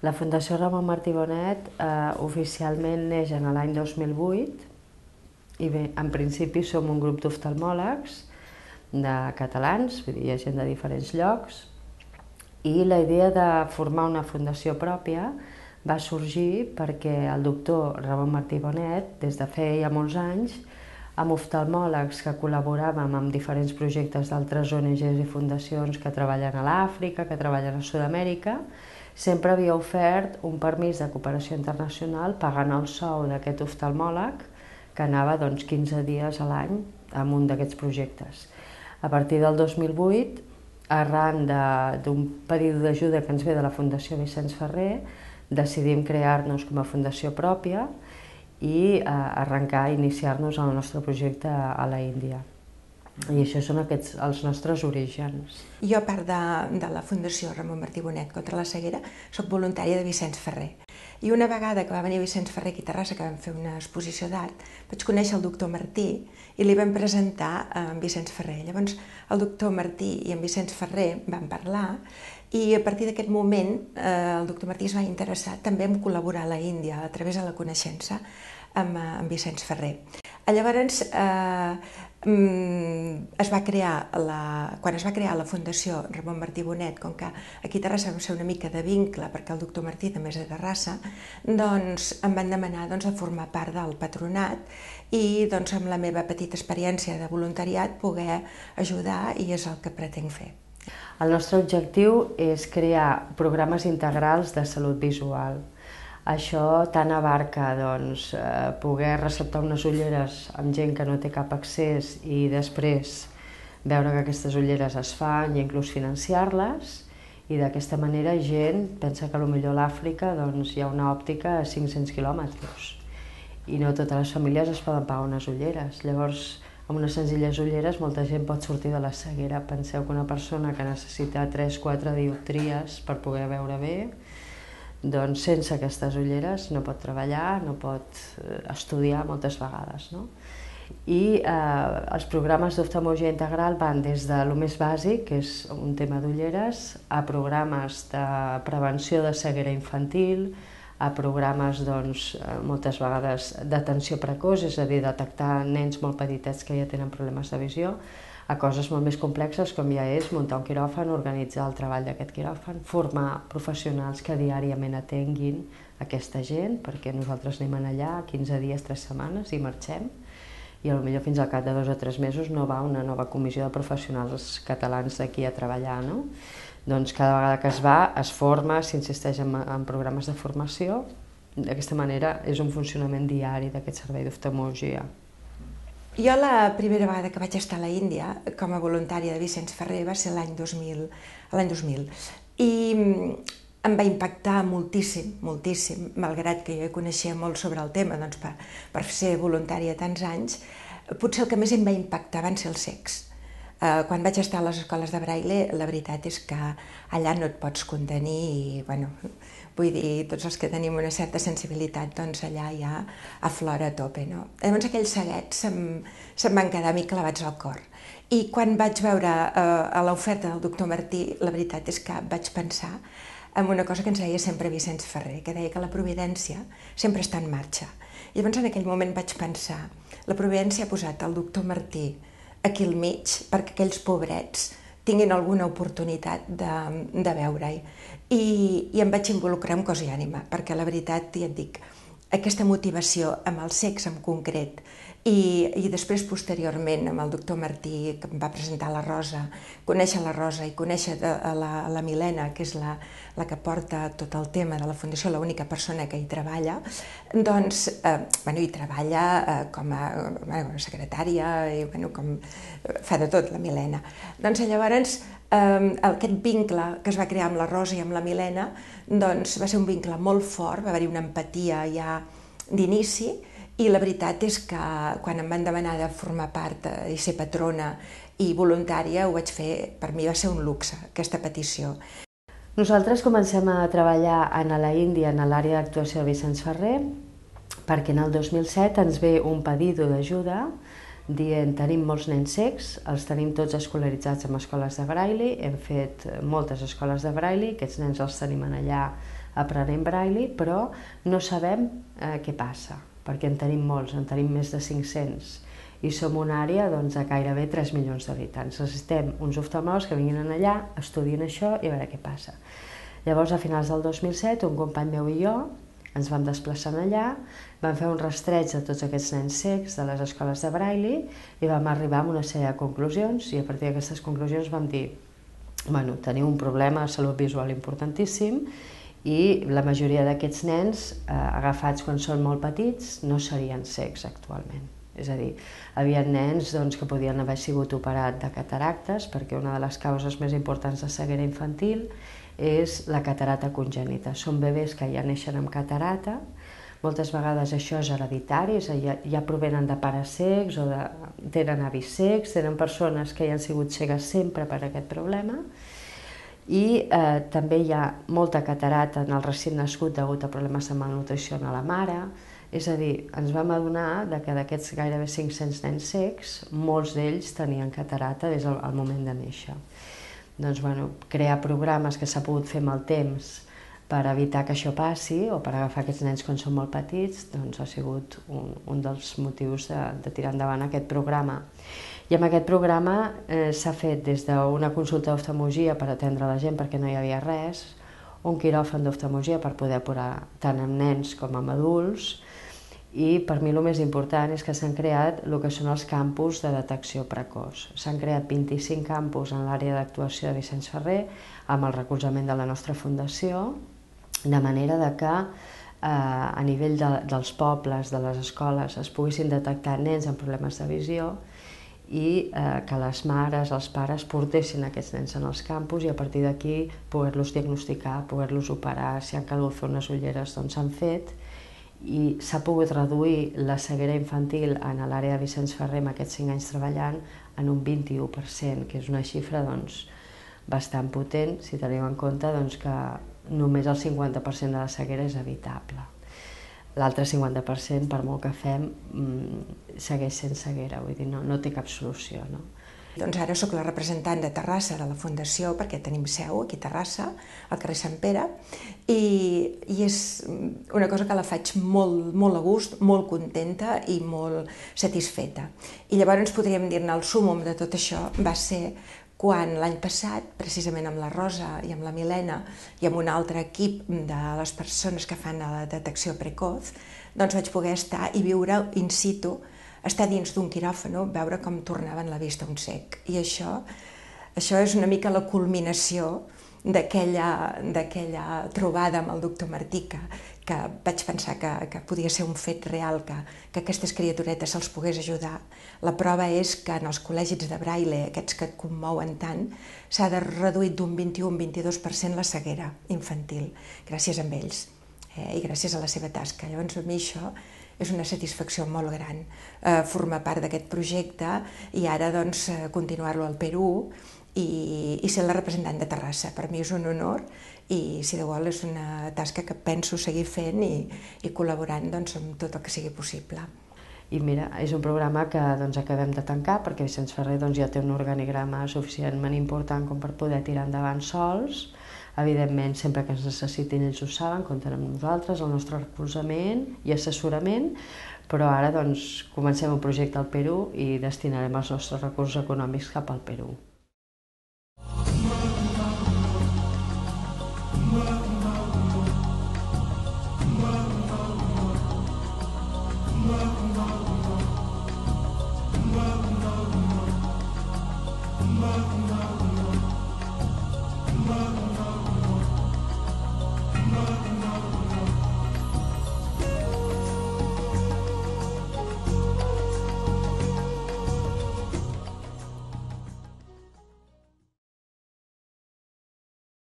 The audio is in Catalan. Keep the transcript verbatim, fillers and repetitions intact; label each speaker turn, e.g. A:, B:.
A: La Fundació Ramon Martí Bonet eh, oficialment neix en l'any dos mil vuit i bé, en principi som un grup d'oftalmòlegs de catalans, vull dir, hi ha gent de diferents llocs, i la idea de formar una fundació pròpia va sorgir perquè el doctor Ramon Martí Bonet, des de feia molts anys, amb oftalmòlegs que col·laboràvem amb diferents projectes d'altres O N Ges i fundacions que treballen a l'Àfrica, que treballen a Sud-amèrica, sempre havia ofert un permís de cooperació internacional pagant el sou d'aquest oftalmòleg que anava doncs, quinze dies a l'any en un d'aquests projectes. A partir del dos mil vuit, arran d'un pedido d'ajuda que ens ve de la Fundació Vicenç Ferrer, decidim crear-nos com a fundació pròpia i eh, arrencar, iniciar-nos en el nostre projecte a la Índia. I això són aquests els nostres orígens.
B: Jo, a part de, de la Fundació Ramon Martí Bonet contra la ceguera, soc voluntària de Vicenç Ferrer. I una vegada que va venir Vicenç Ferrer aquí a Terrassa, que vam fer una exposició d'art, vaig conèixer el doctor Martí i li vam presentar a en Vicenç Ferrer. Llavors, el doctor Martí i en Vicenç Ferrer van parlar i a partir d'aquest moment eh, el doctor Martí es va interessar també en col·laborar a la Índia a través de la coneixença amb, amb Vicenç Ferrer. Llavors, eh, es va crear la, quan es va crear la Fundació Ramon Martí Bonet, com que aquí a Terrassa vam ser una mica de vincle, perquè el doctor Martí també és de Terrassa, doncs em van demanar doncs, de formar part del patronat i doncs, amb la meva petita experiència de voluntariat poder ajudar i és el que pretenc fer.
A: El nostre objectiu és crear programes integrals de salut visual. Això tant abarca doncs, eh, poder receptar unes ulleres amb gent que no té cap accés i després veure que aquestes ulleres es fan i inclús financiar-les, i d'aquesta manera gent pensa que potser a l'Àfrica doncs, hi ha una òptica a cinc-cents quilòmetres i no totes les famílies es poden pagar unes ulleres. Llavors, amb unes senzilles ulleres molta gent pot sortir de la ceguera. Penseu que una persona que necessita tres o quatre dioptries per poder veure bé, doncs sense aquestes ulleres no pot treballar, no pot estudiar moltes vegades. No? I eh, els programes d'oftalmologia integral van des de lo més bàsic, que és un tema d'ulleres, a programes de prevenció de ceguera infantil, a programes doncs, moltes vegades d'atenció precoç, és a dir, detectar nens molt petitets que ja tenen problemes de visió, a coses molt més complexes com ja és muntar un quiròfan, organitzar el treball d'aquest quiròfan, formar professionals que diàriament atenguin aquesta gent, perquè nosaltres anem allà quinze dies, tres setmanes i marxem, i potser fins al cap de dos o tres mesos no va una nova comissió de professionals catalans d'aquí a treballar. No? Doncs cada vegada que es va, es forma, s'insisteix en, en programes de formació. D'aquesta manera és un funcionament diari d'aquest servei d'oftalmologia.
B: Jo la primera vegada que vaig estar a la Índia com a voluntària de Vicenç Ferrer va ser l'any dos mil, l'any dos mil i em va impactar moltíssim, moltíssim, malgrat que jo coneixia molt sobre el tema, doncs per, per ser voluntària tants anys, potser el que més em va impactar van ser els cecs. Quan vaig estar a les escoles de Braille, la veritat és que allà no et pots contenir i, bueno, vull dir, tots els que tenim una certa sensibilitat, doncs allà ja aflora a tope, no? Llavors aquells ceguets se'm, se'm van quedar a mi clavats al cor. I quan vaig veure eh, l'oferta del doctor Martí, la veritat és que vaig pensar en una cosa que ens deia sempre Vicenç Ferrer, que deia que la providència sempre està en marxa. I llavors en aquell moment vaig pensar, la providència ha posat el doctor Martí aquí al mig perquè aquells pobrets tinguin alguna oportunitat de, de veure-hi. I, I em vaig involucrar amb cos i ànima, perquè la veritat, ja et dic, aquesta motivació amb els cecs en concret i, i després posteriorment amb el doctor Martí que em va presentar la Rosa, conèixer la Rosa i conèixer la, la Milena, que és la, la que porta tot el tema de la Fundació, l'única persona que hi treballa, doncs, eh, bueno, hi treballa eh, com a bueno, secretària i bueno, com, fa de tot la Milena. Doncs llavors eh, aquest vincle que es va crear amb la Rosa i amb la Milena doncs, va ser un vincle molt fort, va haver-hi una empatia ja d'inici. I la veritat és que quan em van demanar de formar part i ser patrona i voluntària, ho vaig fer, per mi va ser un luxe, aquesta petició.
A: Nosaltres comencem a treballar a la Índia en l'àrea d'actuació de Vicenç Ferrer perquè en el dos mil set ens ve un pedido d'ajuda dient tenim molts nens cecs, els tenim tots escolaritzats en escoles de Braille, hem fet moltes escoles de Braille, aquests nens els tenim allà aprenent braille, però no sabem eh, què passa, perquè en tenim molts, en tenim més de cinc-cents, i som una àrea doncs, de gairebé tres milions d'habitants. Necessitem uns oftalmòlegs que vinguin allà, estudien això i a veure què passa. Llavors, a finals del dos mil set, un company meu i jo ens vam desplaçar allà, vam fer un rastreig de tots aquests nens cecs de les escoles de braille i vam arribar a una sèrie de conclusions, i a partir d'aquestes conclusions vam dir bueno, teniu un problema de salut visual importantíssim i la majoria d'aquests nens eh, agafats quan són molt petits no serien cecs actualment. És a dir, hi havia nens doncs, que podien haver sigut operats de cataractes, perquè una de les causes més importants de ceguera infantil és la catarata congènita. Són bebès que ja neixen amb catarata, moltes vegades això és hereditari, és a dir, ja provenen de pares cecs o de, tenen avis cecs, tenen persones que ja han sigut cegues sempre per aquest problema, i eh, també hi ha molta catarata en el recent nascut degut a problemes de malnutrició a la mare. És a dir, ens vam adonar que d'aquests gairebé cinc-cents nens cecs, molts d'ells tenien catarata des del moment de néixer. Doncs, bueno, crear programes que s'ha pogut fer amb el temps per evitar que això passi o per agafar aquests nens quan són molt petits, doncs ha sigut un, un dels motius de, de tirar endavant aquest programa. I amb aquest programa eh, s'ha fet des d'una consulta d'oftalmologia per atendre la gent perquè no hi havia res, un quiròfan d'oftalmologia per poder operar tant amb nens com amb adults, i per mi el més important és que s'han creat el que són els campus de detecció precoç. S'han creat vint-i-cinc campus en l'àrea d'actuació de Vicenç Ferrer amb el recolzament de la nostra fundació, de manera que eh, a nivell de, dels pobles, de les escoles, es poguessin detectar nens amb problemes de visió i eh, que les mares, els pares portessin aquests nens en els campus i a partir d'aquí poder-los diagnosticar, poder-los operar, si han calgut fer unes ulleres doncs s'han fet, i s'ha pogut reduir la ceguera infantil en l'àrea de Vicenç Ferrer amb aquests cinc anys treballant en un vint-i-u per cent, que és una xifra doncs, bastant potent si tenim en compte doncs, que només el cinquanta per cent de la ceguera és evitable. L'altre cinquanta per cent, per molt que fem, segueix sent ceguera, vull dir, no, no té cap solució. No?
B: Doncs ara sóc la representant de Terrassa de la Fundació, perquè tenim seu aquí a Terrassa, al carrer Sant Pere, i, i és una cosa que la faig molt, molt a gust, molt contenta i molt satisfeta. I llavors podríem dir-ne el súmmum de tot això va ser quan l'any passat, precisament amb la Rosa i amb la Milena i amb un altre equip de les persones que fan la detecció precoç, doncs vaig poder estar i viure in situ, estar dins d'un quiròfano, veure com tornaven la vista un cec. I això, això és una mica la culminació d'aquella trobada amb el doctor Martí, que, que vaig pensar que, que podia ser un fet real, que, que aquestes criaturetes se'ls pogués ajudar. La prova és que en els col·legis de braille, aquests que et commouen tant, s'ha reduït d'un vint-i-u a un vint-i-dos per cent la ceguera infantil, gràcies a ells, eh, i gràcies a la seva tasca. Llavors, a mi això és una satisfacció molt gran, eh, formar part d'aquest projecte i ara doncs, continuar-lo al Perú i, i ser la representant de Terrassa. Per mi és un honor i, si Déu vol, és una tasca que penso seguir fent i, i col·laborant doncs, amb tot el que sigui possible.
A: I mira, és un programa que doncs, acabem de tancar perquè Vicenç Ferrer doncs, ja té un organigrama suficientment important com per poder tirar endavant sols. Evidentment, sempre que ens necessitin ells ho saben, compten amb nosaltres, el nostre recolzament i assessorament, però ara doncs, comencem un projecte al Perú i destinarem els nostres recursos econòmics cap al Perú.